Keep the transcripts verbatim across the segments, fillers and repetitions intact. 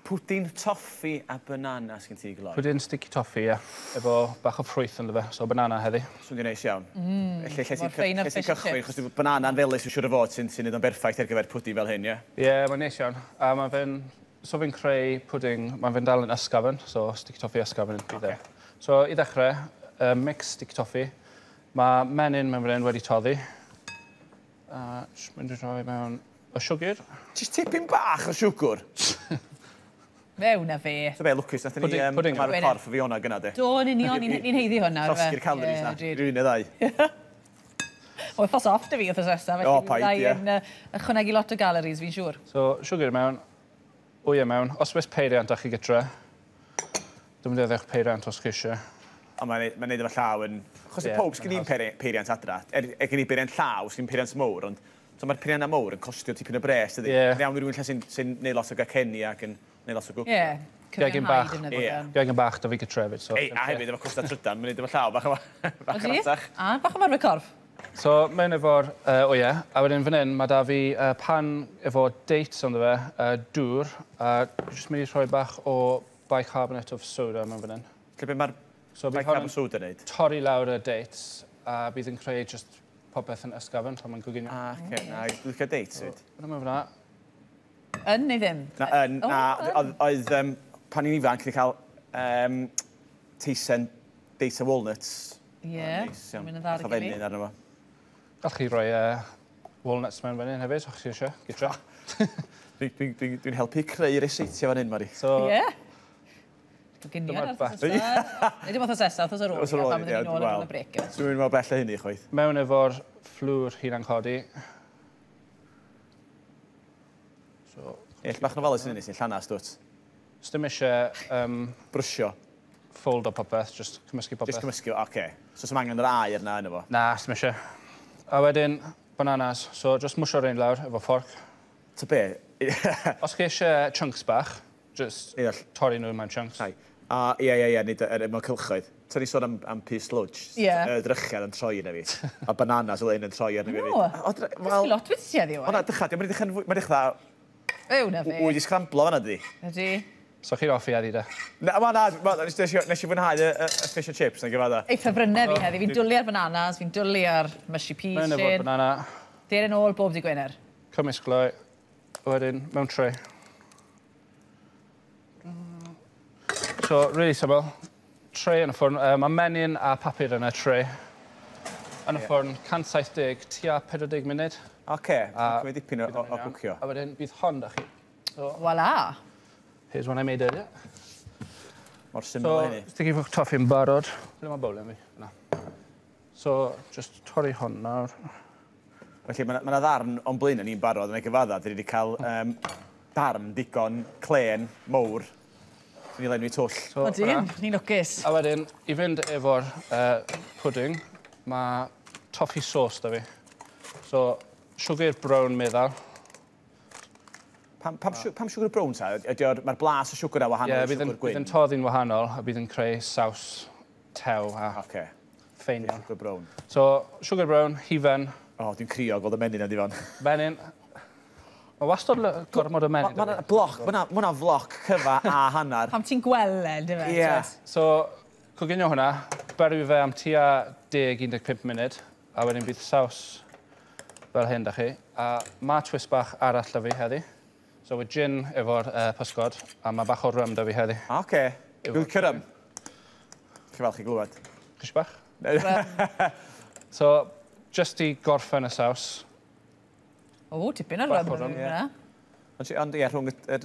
Pwdin toffi a banana sgyn ti, gloi? Pwdin sticky toffee, ie. Efo bach o ffrwyth ynddo fe, so banana heddi. Swnio'n neis iawn. Mm, Lle, lle ti'n lle ti'n cychwyn, achos banana'n felys yn siŵr o fod sy'n sy neud o'n berffaith ar gyfer pwdin fel hyn, ie? Ie, yeah, mae'n neis iawn. A mae fe'n... So fi'n creu pwdin, mae fe'n dal yn ysgafn, so sticky toffee ysgafn bydd e. Okay. So i ddechrau, uh, mix sticky toffee. Mae menyn mewn fan hyn wedi toddi. A jyst mynd i rhoi mewn y siwgr. Jyst tipyn bach o siwgr? Mewn a fe. So be, lwcus, nathon ni um, ymarfer corff o Fiona gynna, de. Do, yn union, ni'n haeddu hwnna. Llosgi'r calories na, rhywun neu ddau. Wythnos off dy fi wythnos nesaf, felly fydda i yn ychwanegu lot o galories, fi'n siŵr. So, siwgr mewn, wyau mewn. Os oes peiriant â chi gytre, dwi'n mynd i ddewch peiriant os chi eisiau. Ond mae'n ma neud efo llaw yn... Achos yeah, pob sgyn i'n peiriant adra. Er, er gen i peiriant llaw, sgyn peiriant mowr, ond so mae'r peiriannau mowr yn costio tipyn o bres, dydy? Yeah. Iawn i rhywun lle sy'n sy neud lot o gacenni ac yn neud lot o gwcio. Ie, cyfiawnhau defnyddio. Yeah. Gegin bach da fi gytre hefyd. So, Ei, a hefyd efo costa trydan, mae'n neud efo llaw bach o bach o ratach. A, bach o marfer corff. So, mewn efo'r uh, wyau, a wedyn fan hyn, mae da fi uh, pan efo dates ynddo fe, uh, dŵr, a jyst mynd i rhoi bach o bicarbonate of soda mewn fan hyn. Lle be mae'r so, bicarbonate soda wneud? Torri lawr y dates, a bydd yn creu just popeth yn ysgafn pan mae'n coginio. Ah, oce. Na, dwi'n licio dates fyd. Yna mewn fyna. Yn neu ddim? Na, yn. Na, oedd, um, pan i'n ifanc, ni cael um, teisen dates a walnuts. Ie, yeah, mae'n dda ar y gilydd. Arno fo. Gallwch chi roi uh, walnuts mewn fan hyn hefyd, os chi eisiau, gytra. Dwi'n dwi, dwi, dwi helpu creu ryseitiau fan hyn, Mari. So, ie. Yeah. Coginio ar wythnos nesaf. Neu dim wythnos nesaf, wythnos ar ôl, pan byddwn ni'n ôl ar ôl y brec. Dwi'n mynd mor bell â hynny, chwaith. Mewn efo'r fflwr hunan codi. So, Ie, bach yn ofalus yn hynny, sy'n llanas, dwt. Sdim eisiau... Um, Brysio. Fold o popeth, just cymysgu popeth. Just cymysgu, oce. Okay. So, sdim angen yr aer na yno fo? Na, sdim eisiau. A wedyn, bananas. So, just mwsio'r un lawr efo fforc. Ta be? Os chi eisiau chunks bach, just torri nhw mewn chunks. Hai. A, ie, ie, ie, nid mewn cylchoedd. Ti'n ni sôn am, am pys sludge. Ie. Y drychiad yn troi yna fi. A bananas o un yn troi arna fi. O, dysgu lot wedi ti heddiw. O na, dycha, diolch yn dechrau... Mae'n dechrau... Ew, na fi. Wy di scramblo fan'na, di. Ydy. So chi'n hoffi heddi, de? Na, ma, na, nes i fwynhau y, y, y fish and chips, na'n gyfadda. Ei, ffefrynnau fi heddi. Fi'n dwlu ar bananas, fi'n dwlu ar mushy peas. Mewn efo'r banana. Der yn ôl bob di Gwener. Cymysg gloi. Wedyn, mewn tray. So, really syml. Tray yn y ffwrn. Uh, mae menyn a papur yn y tray. Yn y ffwrn, cant saith deg, tua pedwar deg munud. Oce, okay. Dipyn o, o, o gwcio. A wedyn, bydd hon da chi. So, Voila! Here's one I made earlier. Mor syml so, hynny. So, sticky toffee yn barod. Ble mae bowlen fi? Na. So, just torri hon nawr. Felly, mae yna ddarn o'n blaen ni'n barod yn ei gyfadda. Dyn ni wedi cael um, darn digon clen, mowr. Ni lenwi twll. So, o dyn, ni'n lwcus. A wedyn, i fynd efo'r uh, pudding, mae toffee sauce da fi. So, siwgr brown meddal. Pam, pam, a... pam siwgr brown ta? Mae'r blas o siwgr a wahanol yeah, i siwgr gwyn? Ie, bydd yn toddi'n wahanol a bydd yn creu saws tew a okay. ffein iawn. Siwgr brown. So, siwgr brown, hufen. O, oh, dwi'n crio gweld y menyn yna, Difon. Menyn. Mae wastad gormod o menyn. Mae bloc, mae hwnna floc cyfa a hanner. Pam ti'n gweld e, dy fe? Ie. So, coginio hwnna, berwi fe am tua deg i un deg pump munud, a wedyn bydd saws fel hyn da chi. A mae twist bach arall da fi heddi. So, mae gin efo'r uh, pysgod, a mae bach o rum da fi heddi. Oce. Okay. Dwi'n licio rum. Chi falch i glywed. Chi eisiau bach? So, just i gorffen y saws. O, tipyn o rum yna. Ond, ond ie, rhwng y, y,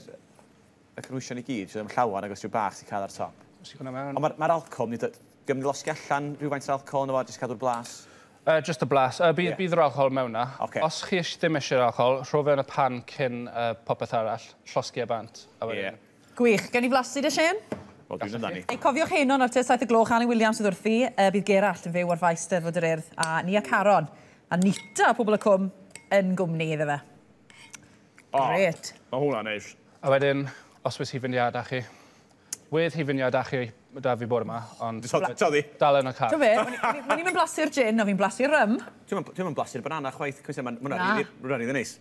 y cynhwysion i gyd, sydd yn llawer agos rhyw bach sy'n cael ar top. Ond mae'r ma alcohol, ni, diolch yn losgi allan rhywfaint o'r alcohol yna fo, jyst cadw'r blas? Uh, just y blas. Uh, bydd, yeah. Bydd yr alcohol mewn na. Okay. Os chi ddim eisiau'r alcohol, rho fe yn y pan cyn uh, popeth arall, llosgi e bant. A wedyn... Yeah. Gwych. Gen i flasu dy, Shane? Wel, dwi'n amdani. Ei, cofiwch heno nawr tua saith y gloch, Annie Williams sydd wrthi, uh, bydd Gerallt yn fyw ar faes Steddfod yr Urdd, a Nia Caron, a Nita, pobl y cwm, yn gwmni iddo fe. Oh, Gret. Mae hwnna'n neis. A wedyn, os oes hufen iâ da chi. Wedd hufen iâ da chi da fi bore yma, ond Toddi. Dal yn y car. Ti'n fe, o'n i'n blasu'r gin, o'n fi'n blasu'r rum. Dwi'n mynd blasu'r banana chwaith, cos mae'n hwnna'n rili neis.